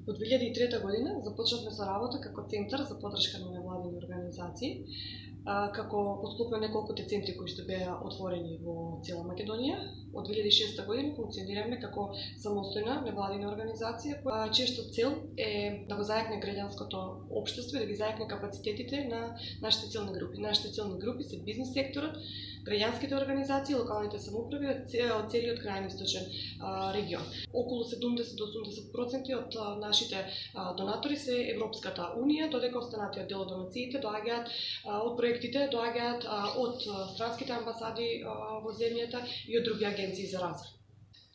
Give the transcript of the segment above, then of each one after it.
Во 2003 година започнавме со работа како центар за поддршка на невладини организации, како поступно неколкуте центри кои што беа отворени во цела Македонија. Од 2006 година функционираме како самостојна невладина организација, чијашто цел е да го зајакне граѓанското општество и да ги зајакне капацитетите на нашите целни групи. Нашите целни групи се бизнис секторот, граѓанските организации, локалните самоуправи од целиот крајен источен регион. Околу 70 до 80% од нашите донатори се Европската унија, додека останатиот дел од донациите доаѓаат од проектите, доаѓаат од странските амбасади во земјата и од други агенции за развој.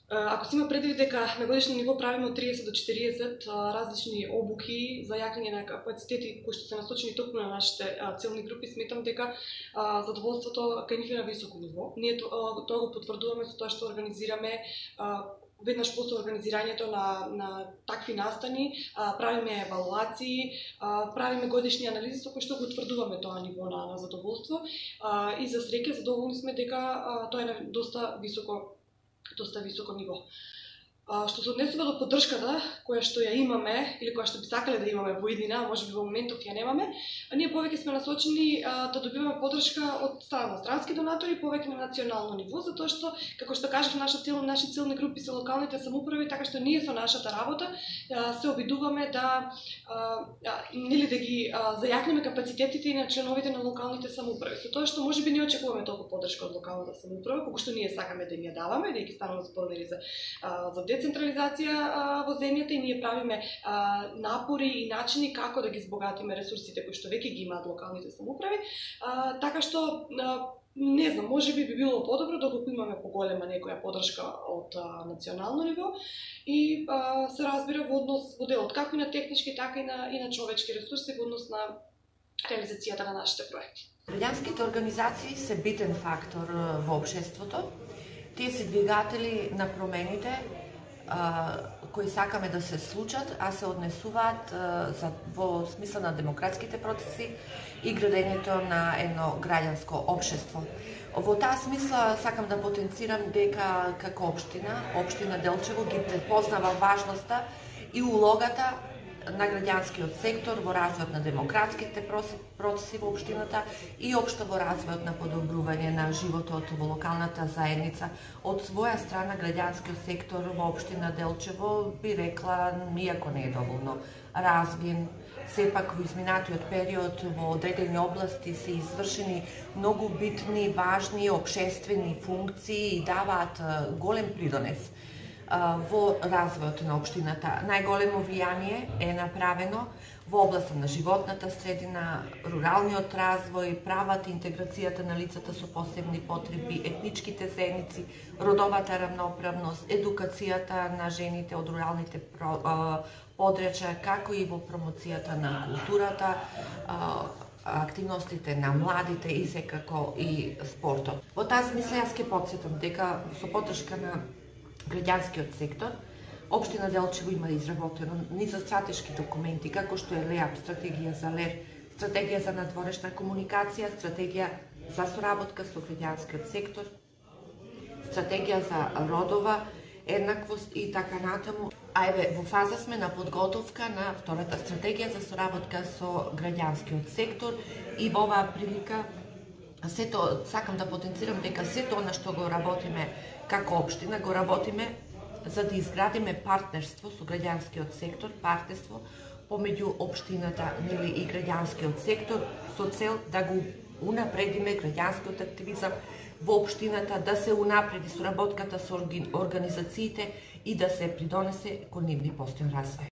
Ако се има предвид дека на годишно ниво правиме од 30 до 40 различни обуки за јакнење на капацитети кои што се насочени токму на нашите целни групи, сметам дека задоволството кај нив е на високо ниво. Ние тоа го потврдуваме со тоа што организираме веднаш после организирањето на такви настани, правиме евалуации, правиме годишни анализи со кои што го утврдуваме тоа ниво на задоволство и за среќа задоволни сме дека тоа е на доста високо ниво. Што се однесува до поддршката која што ја имаме или која што би сакале да имаме во иднина, можеби во моментов ја немаме, ние повеќе сме насочени да добиваме поддршка од страна на странски донатори, повеќе на национално ниво, затоа што, како што кажав, наши целни групи се локалните самоуправи, така што ние со нашата работа се обидуваме да ги зајакнеме капацитетите и на членовите на локалните самоуправи. Со тоа што можеби не очекуваме толку поддршка од локалната самоуправа, колку што ние сакаме да им ја даваме, да ги станува споделни за децентрализација во земјата, и ние правиме напори и начини како да ги збогатиме ресурсите кои што веќе ги имаат локалните самоуправи, така што не знам, можеби би било подобро доколку имаме поголема некоја поддршка од национално ниво и се разбира во однос во делот како и на технички, така и на човечки ресурси во однос на реализацијата на нашите проекти. Граѓанските организации се битен фактор во општеството. Тие се двигатели на промените кои сакаме да се случат, а се однесуваат во смисла на демократските процеси и градењето на едно граѓанско општество. Во таа смисла сакам да потенцирам дека како општина Делчево ги препознава важноста и улогата на граѓанскиот сектор во развојот на демократските процеси во општината и општо во развојот на подобрување на животот во локалната заедница. Од своја страна граѓанскиот сектор во општина Делчево би рекла, иако не е доволно развиен, сепак во изминатиот период во одредени области се извршени многу битни, важни општествени функции и даваат голем придонес во развојот на општината. Најголемо влијание е направено во областа на животната средина, руралниот развој, правата и интеграцијата на лицата со посебни потреби, етничките заедници, родовата рамноправност, едукацијата на жените од руралните подрачја, како и во промоцијата на културата, активностите на младите и секако и спортот. Во таа смисла јас ќе потсетам дека со поддршка на граѓанскиот сектор, општина Делчево има изработено низа стратешки документи, како што е ЛЕАП, стратегија за ЛЕР, стратегија за надворешна комуникација, стратегија за соработка со граѓанскиот сектор, стратегија за родова еднаквост и така натаму. Во фаза сме на подготовка на втората стратегија за соработка со граѓанскиот сектор и во оваа прилика сето сакам да потенцирам дека сето она што го работиме како општина, го работиме за да изградиме партнерство со граѓанскиот сектор, партнерство помеѓу општината и граѓанскиот сектор со цел да го унапредиме граѓанскиот активизам во општината, да се унапреди соработката со организациите и да се придонесе кон нивни постојан развој.